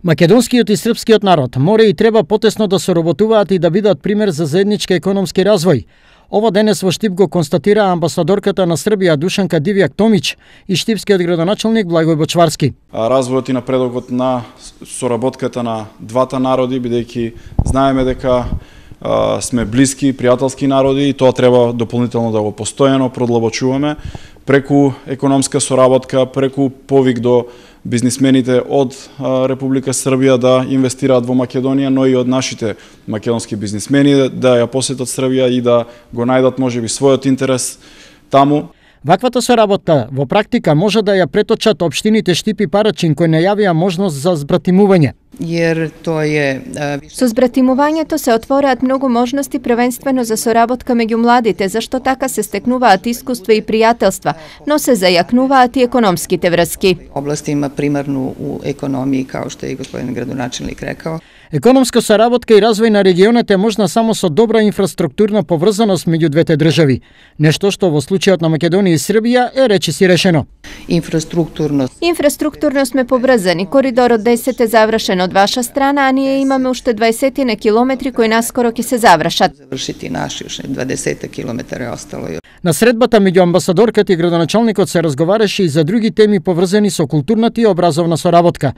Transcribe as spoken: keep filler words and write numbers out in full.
Македонскиот и српскиот народ мора и треба потесно да соработуваат и да бидат пример за заеднички економски развој. Ова денес во Штип го констатира амбасадорката на Србија Душанка Дивјак Томич и штипскиот градоначелник Благој Бочварски. Развојот и напредокот на соработката на двата народи, бидејќи знаеме дека а, сме блиски, пријателски народи и тоа треба дополнително да го постојано продлабочуваме преку економска соработка, преку повик до бизнисмените од Република Србија да инвестираат во Македонија, но и од нашите македонски бизнисмени да ја посетат Србија и да го најдат можеби својот интерес таму. Ваквата соработка во практика може да ја преточат општините Штип и Парачин кои најавија можност за збратимување. Jer to je... Со збратимувањето се отвораат многу можности првенствено за соработка меѓу младите, зашто така се стекнуваат искуства и пријателства, но се зајакнуваат и економските врски. Област има примарну у економiji, kao što je i gospodin gradonačelnik rekao. Економска соработка и развој на регионите е можна само со добра инфраструктурна поврзаност меѓу двете држави. Нешто што во случајот на Македонија и Србија е речиси решено. Инфраструктурно. Инфраструктурно сме поврзани. Коридорот десет е завршен од ваша страна, а ние имаме уште дваесет километри кои наскоро ќе се завршат. Завршити наши уште дваесет километри е остало. На средбата меѓу амбасадорката и градоначалникот се разговараше и за други теми поврзани со културната и образовна соработка.